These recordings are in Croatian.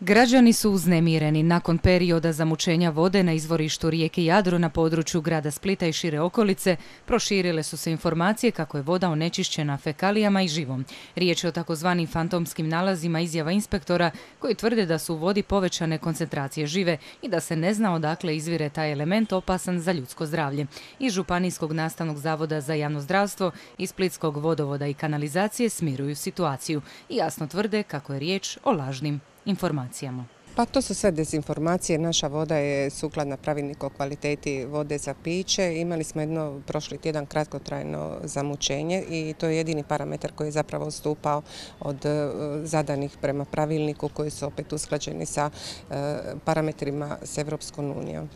Građani su uznemireni. Nakon perioda zamućenja vode na izvorištu rijeke Jadro na području grada Splita i šire okolice, proširile su se informacije kako je voda onečišćena fekalijama i živom. Riječ je o takozvanim fantomskim nalazima izjava inspektora koji tvrde da su u vodi povećane koncentracije žive i da se ne zna odakle izvire taj element opasan za ljudsko zdravlje. Iz Županijskog nastavnog zavoda za javno zdravstvo i Splitskog vodovoda i kanalizacije smiruju situaciju i jasno tvrde kako je riječ o lažnim informacijama. Pa to su sve dezinformacije. Naša voda je sukladna pravilniku o kvaliteti vode za piće. Imali smo jedno prošli tjedan kratkotrajno zamućenje i to je jedini parametar koji je zapravo odstupao od zadanih prema pravilniku koji su opet usklađeni sa parametrima s Europskom unijom.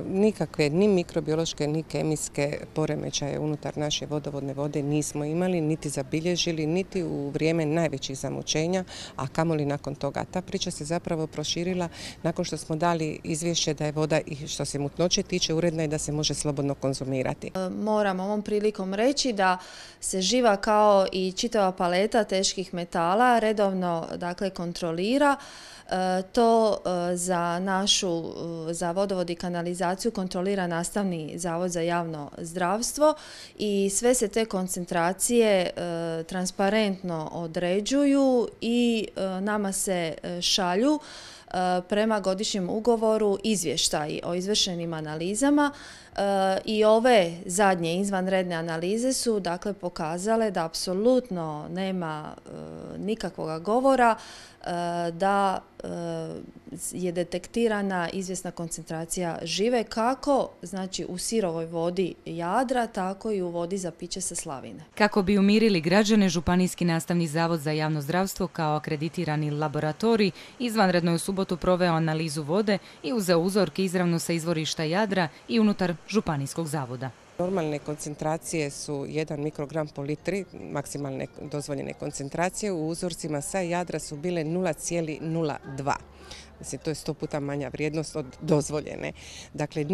Nikakve ni mikrobiološke ni kemijske poremećaje unutar naše vodovodne vode nismo imali, niti zabilježili, niti u vrijeme najvećih zamućenja, a kamoli nakon toga. Ta priča se zapravo proširila nakon što smo dali izvješće da je voda i što se mutnoće tiče uredna i da se može slobodno konzumirati. Moram ovom prilikom reći da se živa kao i čitava paleta teških metala redovno kontrolira. To za vodovod i kanalizaciju kontrolira Nastavni zavod za javno zdravstvo i sve se te koncentracije transparentno određuju i nama se šalju prema godišnjem ugovoru izvještaji o izvršenim analizama i ove zadnje izvanredne analize su pokazale da apsolutno nema nikakvog govora da je detektirana izvjesna koncentracija žive kako u sirovoj vodi Jadra, tako i u vodi za piće sa slavine. Kako bi umirili građane, Županijski nastavni zavod za javno zdravstvo kao akreditirani laboratorij izvanredno je u subotu proveo analizu vode i uzeo uzorke izravno sa izvorišta Jadra i unutar Županijskog zavoda. Normalne koncentracije su 1 mikrogram po litri, maksimalne dozvoljene koncentracije. U uzorcima sa Jadra su bile 0,02. Mislim, to je 100 puta manja vrijednost od dozvoljene. Dakle,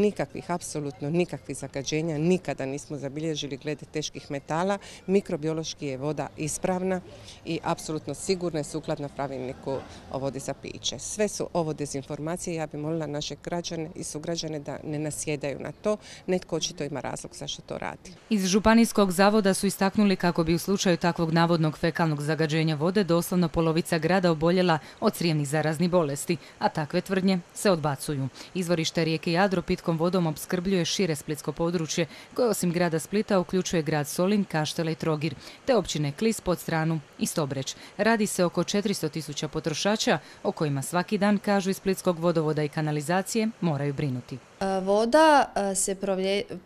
apsolutno nikakvih zagađenja nikada nismo zabilježili glede teških metala. Mikrobiološki je voda ispravna i apsolutno sigurna i sukladna pravilniku o vodi za piće. Sve su ovo dezinformacije. Ja bih molila naše građane i sugrađane da ne nasjedaju na to. Netko očito ima razlog zašto to radi. Iz Županijskog zavoda su istaknuli kako bi u slučaju takvog navodnog fekalnog zagađenja vode doslovno polovica grada oboljela od crijevnih zaraznih bolesti, a takve tvrdnje se odbacuju. Izvorište rijeke Jadro pitkom vodom opskrbljuje šire splitsko područje koje osim grada Splita uključuje grad Solin, Kaštela i Trogir, te općine Klis, Podstranu i Stobreć. Radi se oko 400.000 potrošača o kojima svaki dan, kažu iz Splitskog vodovoda i kanalizacije, moraju brinuti. Voda se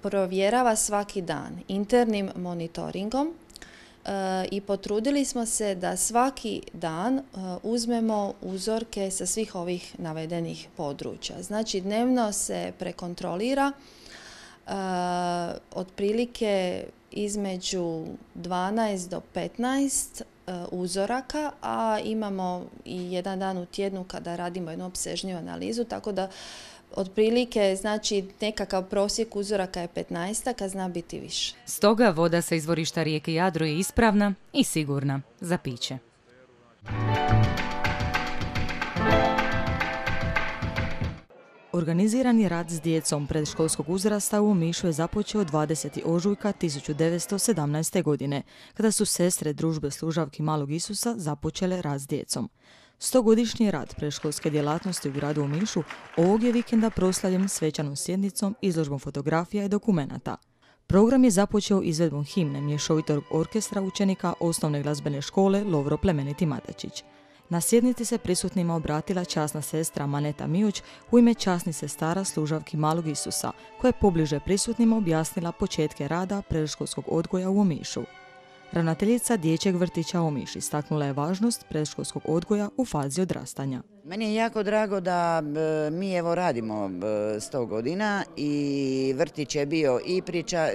provjerava svaki dan internim monitoringom i potrudili smo se da svaki dan uzmemo uzorke sa svih ovih navedenih područja. Znači, dnevno se prekontrolira otprilike između 12 do 15 uzoraka, a imamo i jedan dan u tjednu kada radimo jednu opsežniju analizu, tako da otprilike, nekakav prosjek uzoraka je 15, a zna biti više. Stoga voda sa izvorišta rijeke Jadro je ispravna i sigurna za piće. Organizirani rad s djecom predškolskog uzrasta u Omišu je započeo 20. ožujka 1917. godine, kada su sestre Družbe služavki Malog Isusa započele rad s djecom. 100-godišnji rad predškolske djelatnosti u gradu Omišu ovog je vikenda proslavljen svečanom sjednicom, izložbom fotografija i dokumenata. Program je započeo izvedbom himne mješovitog orkestra učenika osnovne glazbene škole Lovro Plemeniti Matačić. Na sjednici se prisutnima obratila časna sestra Maneta Mioć u ime časnih sestara služavki Malog Isusa, koja je pobliže prisutnima objasnila početke rada predškolskog odgoja u Omišu. Ravnateljica dječjeg vrtića Omiš istaknula je važnost predškolskog odgoja u fazi odrastanja. Meni je jako drago da mi radimo 100 godina i vrtić je bio i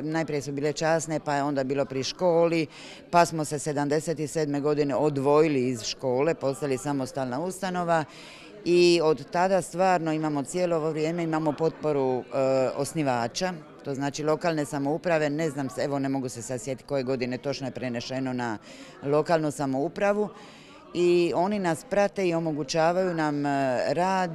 najprije su bile časne, pa je onda bilo pri školi, pa smo se 77. godine odvojili iz škole, postali samostalna ustanova i od tada stvarno imamo cijelo ovo vrijeme potporu osnivača. To znači lokalne samouprave, ne znam, ne mogu se sad sjetiti koje godine točno je prenešeno na lokalnu samoupravu i oni nas prate i omogućavaju nam rad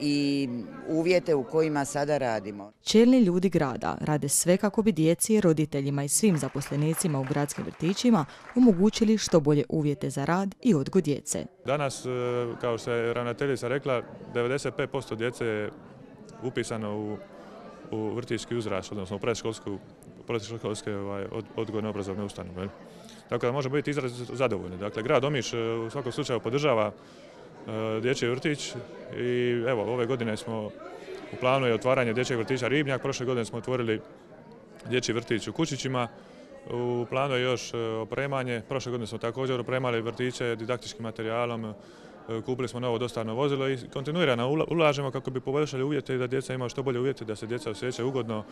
i uvjete u kojima sada radimo. Čelni ljudi grada rade sve kako bi djeci, roditeljima i svim zaposlenicima u gradskim vrtićima omogućili što bolje uvjete za rad i odgoj djece. Danas, kao što je ravnateljica rekla, 95% djece je upisano u vrtićki uzrast, odnosno u predškolske odgojno-obrazovne ustanove. Tako da možemo biti izrazito zadovoljni. Dakle, grad Omiš u svakom slučaju podržava dječji vrtić i evo, ove godine smo u planu je otvaranje dječjeg vrtića Ribnjak, prošle godine smo otvorili dječji vrtić u Kučićima, u planu je još opremanje, prošle godine smo također opremali vrtiće didaktičkim materijalom, kupili smo novo dostavno vozilo i kontinuirano ulažemo kako bi poboljšali uvjete i da djeca imaju što bolje uvjete, da se djeca osjećaju ugodno,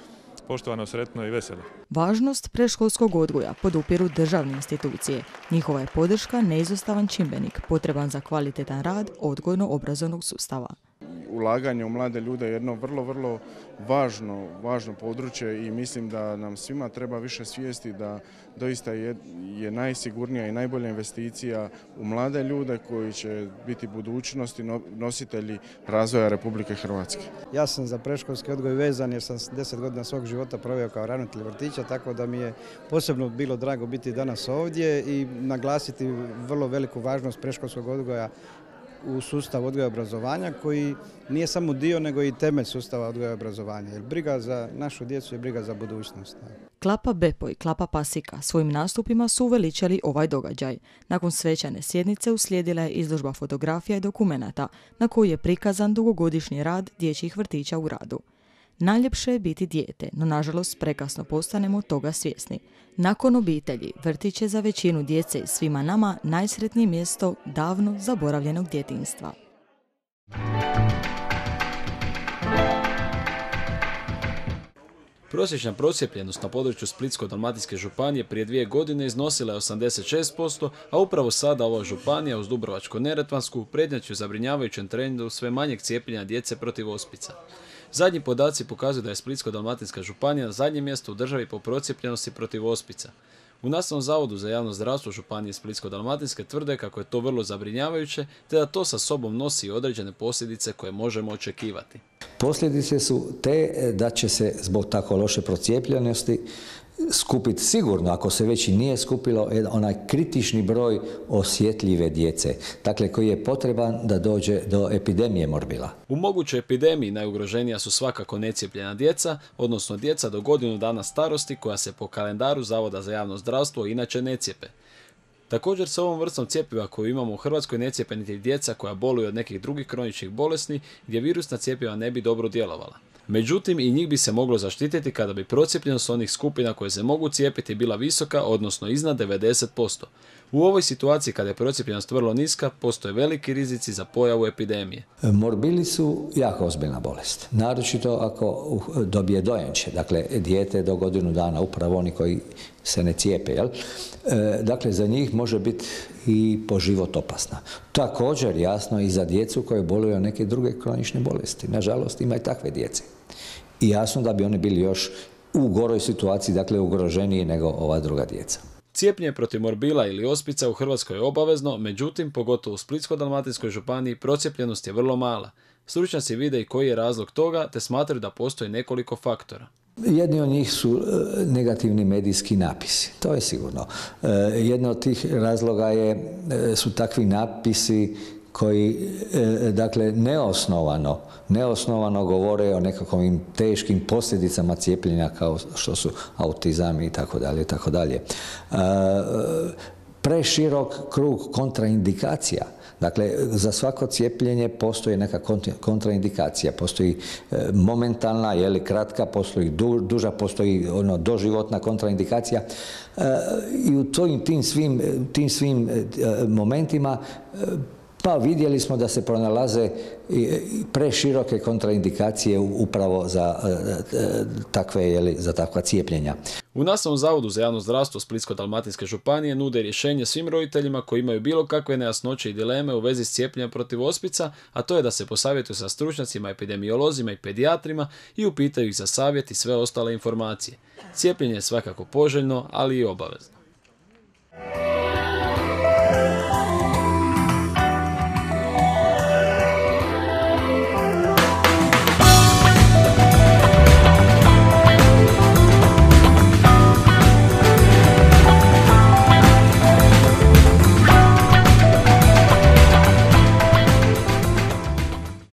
poštovano, sretno i veselo. Važnost predškolskog odgoja podupiru državne institucije. Njihova je podrška neizostavan čimbenik potreban za kvalitetan rad odgojno-obrazovnog sustava. Ulaganje u mlade ljude je jedno vrlo važno područje i mislim da nam svima treba više svijesti da doista je najsigurnija i najbolja investicija u mlade ljude koji će biti budućnosti nositelji razvoja Republike Hrvatske. Ja sam za predškolski odgoj vezan jer sam 10 godina svog života proveo kao ravnatelj vrtića, tako da mi je posebno bilo drago biti danas ovdje i naglasiti vrlo veliku važnost predškolskog odgoja u sustavu odgoja i obrazovanja koji nije samo dio nego i temelj sustava odgoja i obrazovanja. Jer briga za našu djecu je briga za budućnost. Klapa Bepo i Klapa Pasika svojim nastupima su uveličali ovaj događaj. Nakon svečane sjednice uslijedila je izložba fotografija i dokumenata na koju je prikazan dugogodišnji rad dječjih vrtića u radu. Najljepše je biti dijete, no nažalost prekasno postanemo toga svjesni. Nakon obitelji, vrtić je za većinu djece i svima nama najsretnije mjesto davno zaboravljenog djetinjstva. Prosječna procijepljenost na području Splitsko-dalmatinske županije prije 2 godine iznosila je 86%, a upravo sada ova županija uz Dubrovačko-neretvansku prednjači u zabrinjavajućem trendu sve manjeg cijepljenja djece protiv ospica. Zadnji podaci pokazuju da je Splitsko-dalmatinska županija na zadnjem mjestu u državi po procijepljenosti protiv ospica. U Nastavnom zavodu za javno zdravstvo županije Splitsko-dalmatinske tvrde kako je to vrlo zabrinjavajuće, te da to sa sobom nosi i određene posljedice koje možemo očekivati. Posljedice su te da će se zbog tako loše procijepljenosti skupiti sigurno, ako se već i nije skupilo, onaj kritični broj osjetljive djece, dakle koji je potreban da dođe do epidemije morbila. U mogućoj epidemiji najugroženija su svakako necijepljena djeca, odnosno djeca do godinu dana starosti koja se po kalendaru Zavoda za javno zdravstvo inače ne cijepe. Također s ovom vrstom cjepiva koju imamo u Hrvatskoj ne cijepe niti djeca koja boluju od nekih drugih kroničnih bolesti gdje virusna cjepiva ne bi dobro djelovala. Međutim, i njih bi se moglo zaštititi kada bi procijepljenost onih skupina koje se mogu cijepiti bila visoka, odnosno iznad 90%. U ovoj situaciji kada je procijepljenost vrlo niska, postoje veliki rizici za pojavu epidemije. Morbili su jako ozbiljna bolest, naročito ako dobije dojenče, dakle dijete do godinu dana, upravo oni koji se ne cijepe, jel? Dakle, za njih može biti i po život opasna. Također, jasno, i za djecu koje boluju od neke druge kronične bolesti. Nažalost, ima i takve djece. I jasno da bi oni bili još u goroj situaciji, dakle ugroženiji nego ova druga djeca. Cijepljenje protiv morbila ili ospica u Hrvatskoj je obavezno, međutim, pogotovo u Splitsko-dalmatinskoj županiji, procijepljenost je vrlo mala. Stručnjaci vide i koji je razlog toga, te smatraju da postoji nekoliko faktora. Jedni od njih su negativni medijski napisi, to je sigurno. Jedno od tih razloga su takvi napisi koji, dakle, neosnovano govore o nekakvim teškim posljedicama cijepljenja kao što su autizam i tako dalje, tako dalje. Preširok krug kontraindikacija. Dakle, za svako cijepljenje postoji neka kontraindikacija. Postoji momentalna, kratka, postoji duža, postoji doživotna kontraindikacija. I u tim svim momentima pa vidjeli smo da se pronalaze preširoke kontraindikacije upravo za takva cijepljenja. U Nastavnom zavodu za javno zdravstvo Splitsko-dalmatinske županije nude rješenje svim roditeljima koji imaju bilo kakve nejasnoće i dileme u vezi s cijepljenjem protiv ospica, a to je da se posavjetuju sa stručnjacima, epidemiolozima i pedijatrima i upitaju ih za savjet i sve ostale informacije. Cijepljenje je svakako poželjno, ali i obavezno.